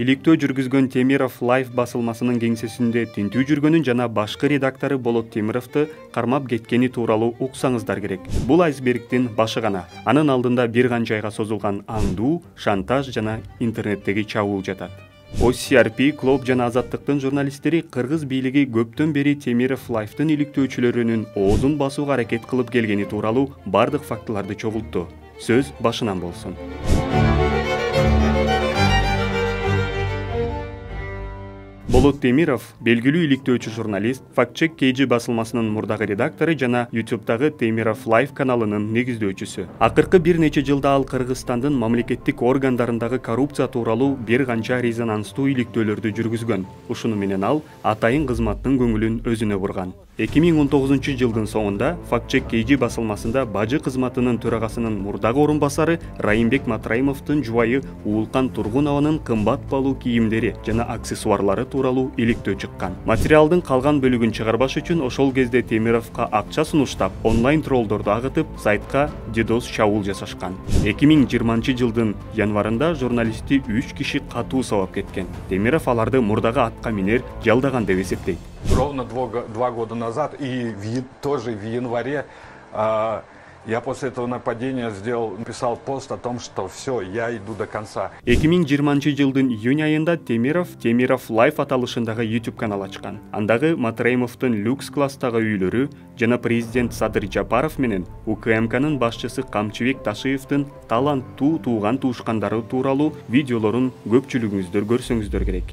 Иликтөө жүргүзгөн Темиров Life басылмасынын кеңсесинде тинтүү жүргөнүн жана башкы редактору Болот Темировду кармап кеткени тууралуу уксаңыздар керек. Бул айсбергдин башы гана. Анын алдында бир канча айга созулган аңдуу, шантаж жана интернеттеги чабуул жатат. OCRP, Клоп жана Азаттыктын журналисттери кыргыз бийлиги көптөн бери Темиров Life'тын иликтөөчүлөрүнүн оозун басууга аракет кылып келгени тууралуу бардык фактыларды чогултту. Сөз башынан болсун. Болот Темиров белгилүү иликтөөчү журналист, Fact-Check KG басылмасынын мурдагы редактору жана YouTube'дагы Темиров Life каналынын негиздөөчүсү. Акыркы бир нече жылда ал Кыргызстандын мамлекеттик органдарындагы коррупция тууралуу бир канча резонанстуу иликтөөлөрдү жүргүзгөн. Ушуну менен ал атайын кызматтын көңүлүн өзүнө бурган. 2019 жылдын соңунда Fact-Check KG басылмасында бажы кызматынын төрагасынын мурдагы орун басары Райымбек Матраимовдун жубайы Уулкан Тургунованын кымбат баалуу кийимдери жана аксессуарлары тууралуу иликтөө чыккан. Материалдын калган бөлүгүн чыгарбаш үчүн ошол кезде Темировго акча сунуштап, онлайн троллдорду агытып, сайтка DDoS чабуул жасашкан. 2020 жылдын январында журналистти 3 киши катуу сабап кеткен. Темиров аларды мурдагы атка минер жалдаган деп эсептейт. Ровно 2 года назад и тоже в январе я после этого нападения написал пост о том, что все, я иду до конца. 2020 жылдын июнь айында Темиров Life аталышындагы YouTube канал ачкан. Андагы Матраимовдун люкс класстагы үйлөрү жана президент Садыр Жапаров менен УКМКнын башчысы Камчыбек Ташиевдин таланттуу тууган туушкандары тууралуу видеолорун көпчүлүгүңүздөр көрсөңүздөр керек.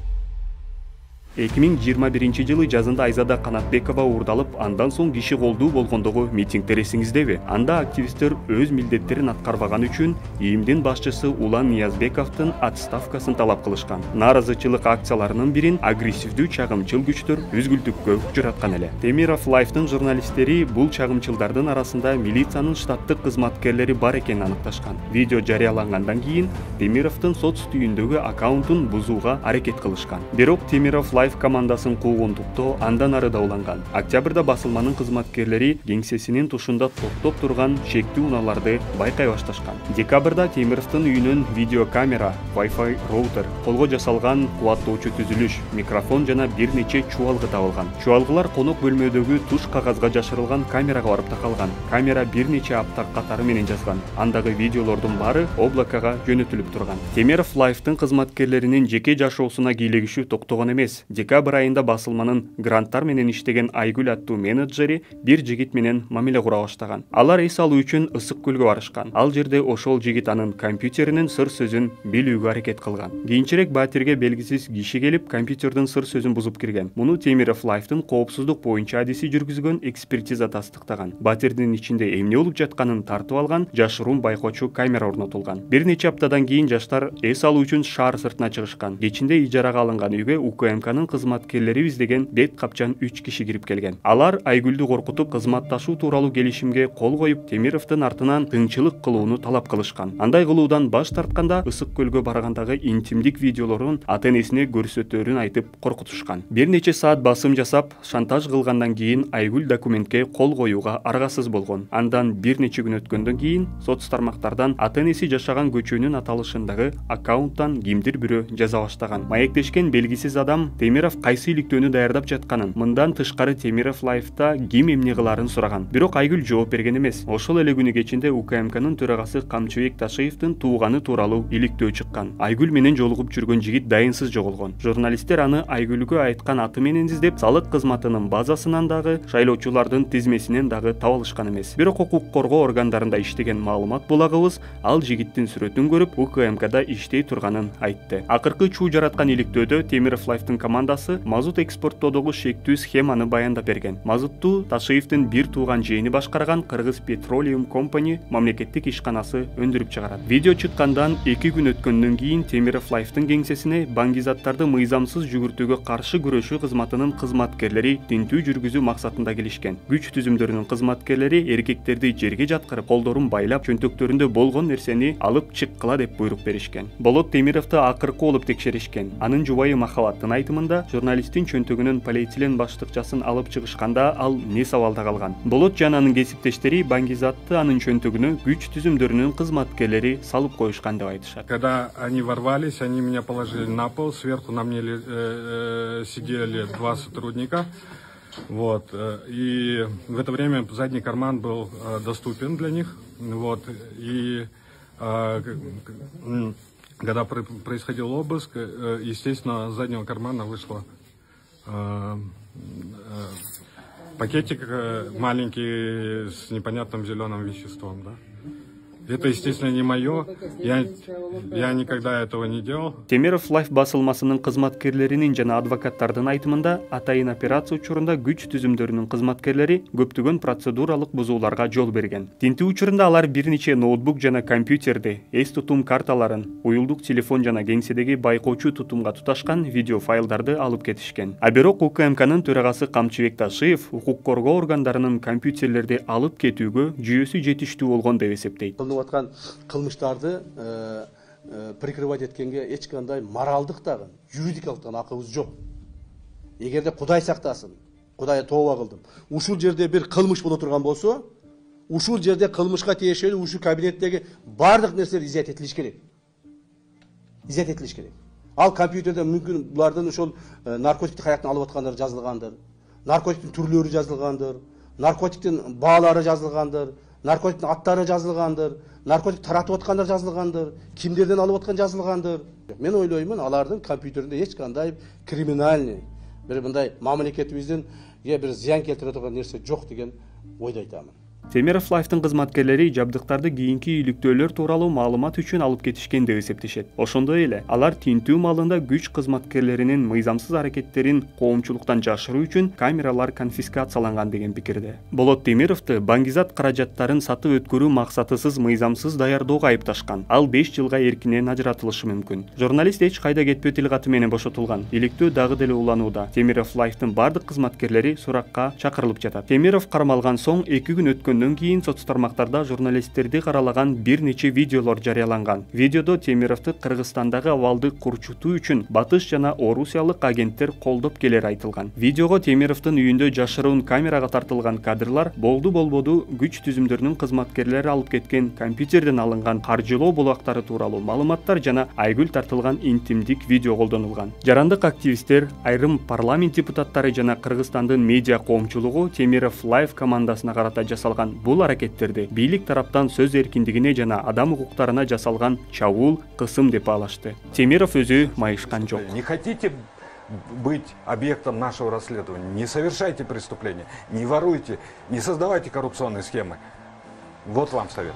2021 жылы жазында Айзада Канатбекова уурдалып, андан соң киши колдуу болгондогу митингдер эсиңиздеби? Анда активисттер өз милдеттерин аткарбаган үчүн ИИМдин башчысы Улан Ниязбековдун отставкасын талап кылышкан. Нааразычылык акцияларынын бирин агрессивдүү чагымчыл күчтөр үзгүлтүккө учураткан эле. Темиров Life'тын журналисттери бул чагымчылдардын арасында милициянын штаттык кызматкерлери бар экенин аныкташкан. Видео жарыялангандан кийин Темировдун соц түйүндөгү аккаунтун бузууга аракет кылышкан. Бирок Темиров Life командасын куугунтуктоо андан ары да уланган. Октябрда басылманын кызматкерлери кеңсесинин тушунда токтоп турган шектүү унааларды байкай башташкан. Декабрда Темировдун үйүнөн видеокамера, Wi-Fi роутер, колго жасалган кубаттоочу түзүлүш, микрофон жана бир нече чубалгы табылган. Чубалгылар конок бөлмөдөгү туш кагазга жашырылган камерага барып такалган. Камера бир нече апта катары менен жазган. Андагы видеолордун баары облакага жөнөтүлүп турган. Темиров Life'тын кызматкерлеринин жеке жашоосуна кийлегишүү токтогон эмес. Декабрь айында басылманын гранттар менен иштеген Айгүл аттуу менеджери бир жигит менен мамиле кура баштаган. Алар эс алуу үчүн Ысык көлгө барышкан. Ал жерде ошол жигит анын компьютеринин сыр сөзүн билүүгө аракет кылган. Кийинчерээк батирге белгисиз киши келип, компьютердин сыр сөзүн бузуп кирген. Муну Темиров Life'тын коопсуздук боюнча адиси жүргүзгөн экспертиза тастыктаган. Батирдин ичинде эмне болуп жатканын тартып алган жашыруун байкоочу камера орнотулган. Бир нече аптадан кийин жаштар эс алуу үчүн шаар сыртына чыгышкан. Кечинде ижарага алынган үйгө УКМКнын кызматкерлери издеген бет капчан 3 киши кирип келген. Алар Айгүлдү коркутуп, кызматташуу тууралуу келишимге кол коюп, Темировдун артынан тыңчылык кылууну талап кылышкан. Андай кылуудан баш тартканда Ысык көлгө баргандагы интимдик видеолорун ата-энесине көрсөтөөрүн айтып коркутушкан. Бир нече саат басым жасап, шантаж кылгандан кийин Айгүл документке кол коюуга аргасыз болгон. Андан бир нече күн өткөндөн кийин соц тармактардан ата-энеси жашаган көчөнүн аталышындагы аккаунттан кимдир бирөө жаза баштаган. Маектешкен белгисиз адам Темиров кайсы иликтөөнү даярдап жатканын, мындан тышкары Темиров Life'та ким эмне кыларын сураган. Бирок Айгүл жооп берген эмес. Ошол эле күнү кечинде УКМКнын төрагасы Камчыбек Ташиевдин тууганы тууралуу иликтөө чыккан. Айгүл менен жолугуп жүргөн жигит дайынсыз жоголгон. Журналисттер аны Айгүлгө айткан аты менен издеп, салык кызматынын базасынан дагы, шайлоочулардын тизмесинен дагы таба алышкан эмес. Бирок укук коргоо органдарында иштеген маалымат булагыбыз ал жигиттин сүрөтүн көрүп, УКМКда иштей турганын айтты. Акыркы чуу жараткан иликтөөдө Темиров Life'тын командасы мазут экспорттоодогу шектүү схеманы баяндап берген. Мазутту Ташиевдин бир тууган жээни башкарган Кыргыз Petroleum Company мамлекеттик ишканасы өндүрүп чыгарат. Видео чыккандан 2 күн өткөндөн кийин Темиров Life'тын кеңсесине баңгизаттарды мыйзамсыз жүгүртүүгө каршы күрөшүү кызматынын кызматкерлери тинтүү жүргүзүү максатында келишкен. Күч түзүмдөрүнүн кызматкерлери эркектерди жерге жаткырып, колдорун байлап, чөнтөктөрүндө болгон нерсени алып чыккыла деп буйрук беришкен. Болот Темировду акыркы болуп текшеришкен. Анын жубайы Махабаттын айтымында учурунда журналисттин чөнтөгүнөн полиэтилен баштыкчасын алып чыгышканда ал не сабалда калган. Болот жана анын кесиптештери Баңгизатты анын чөнтөгүнө күч түзүмдөрүнүн кызматкерлери салып коюшкан деп айтышат. Когда они ворвались, они меня положили на пол, сверху на мне сидели 2 сотрудника. Вот. И в это время задний карман был доступен для них. Вот. И когда происходил обыск, естественно, с заднего кармана вышло пакетик маленький с непонятным зеленым веществом. Да? Это, естественно, не мое. Я никогда этого не делал. Темиров Лайф басылмасынын кызматкерлеринин жана адвокаттардын айтымында атайын операция учурунда күч түзүмдөрүнүн кызматкерлери көптөгөн процедуралык бузууларга жол берген. Тинтүү учурунда алар бир нече ноутбук жана компьютерди, эс тутум карталарын, уюлдук телефон жана кеңседеги байкоочу тутумга туташкан видео файлдарды алып кетишкен. А бирок УКМКнын төрагасы Камчыбек Ташиев укук коргоо органдарынын компьютерлерди алып кетүүгө жүйөсү жетиштүү болгон деп эсептейт. Аткан кылмыштарды прикрывать эткенге эч кандай моралдык дагы, юридикалык дагы акыбыз жок. Эгерде Кудай сактасын, Кудайга тооба кылдым. Ушул жерде бир кылмыш боло турган болсо, ушул жерде кылмышка тиешелүү ушул кабинеттеги бардык нерселер изят этилиш керек. Изят этилиш керек. Ал компьютерде мүмкүн булардын ошол наркотикти каяктан алып аткандары жазылгандыр, наркотиктин түрлөрү жазылгандыр, наркотиктин баалары жазылгандыр, наркотиктин аттары жазылгандыр, наркотик таратып аткандар жазылгандыр, кимдерден алып аткан жазылгандыр. Мен ойлоймун, алардын компьютеринде эч кандай криминальный, бир мындай мамлекетибиздин бир зыян келтире турган нерсе жок деген ойдо айтамын. Темиров Лайфтын кызматкерлери жабдыктарды кийинки иликтөөлөр тууралуу маалымат үчүн алып кетишкен деп эсептешет. Ошондой эле алар тинтүү маалында күч кызматкерлеринин мыйзамсыз аракеттерин коомчулуктан жашыруу үчүн камералар конфискацияланган деген пикирде. Болот Темировду Баңгизат каражаттарын сатып өткөрүү максатысыз мыйзамсыз даярдоого айыпташкан. Ал 5 жылга эркинен ажыратылышы мүмкүн. Журналист эч кайда кетпөө тил каты менен бошотулган. Иликтөө дагы деле уланууда. Темиров Лайфтын бардык кызматкерлери суракка чакырылып жатат. Темиров кармалган соң 2 күн өткөндөн кийин соц тармактарда журналисттерди каралаган бир нече видеолор жарыяланган. Видеодо Темировду Кыргызстандагы абалды курчутуу үчүн батыш жана орусиялык агенттер колдоп келери айтылган. Видеого Темировдун үйүндө жашыруун камерага тартылган кадрлар, болду күч түзүмдөрүнүн кызматкерлери алып кеткен компьютерден алынган каржылоо булактары тууралуу маалыматтар жана айгүл тартылган интимдик видео колдонулган. Жарандык активисттер, айрым парламент депутаттары жана Кыргызстандын медиа коомчулугу Темиров Лайф командасына карата жасалган бул аракеттерди бийлик тараптан сөз эркиндигине жана адам укуктарына жасалган чабуул, кысым деп баалашты. Темиров өзү майышкан жок. Не хотите быть объектом нашего расследования, не совершайте преступления, не воруйте, не создавайте коррупционные схемы. Вот вам совет.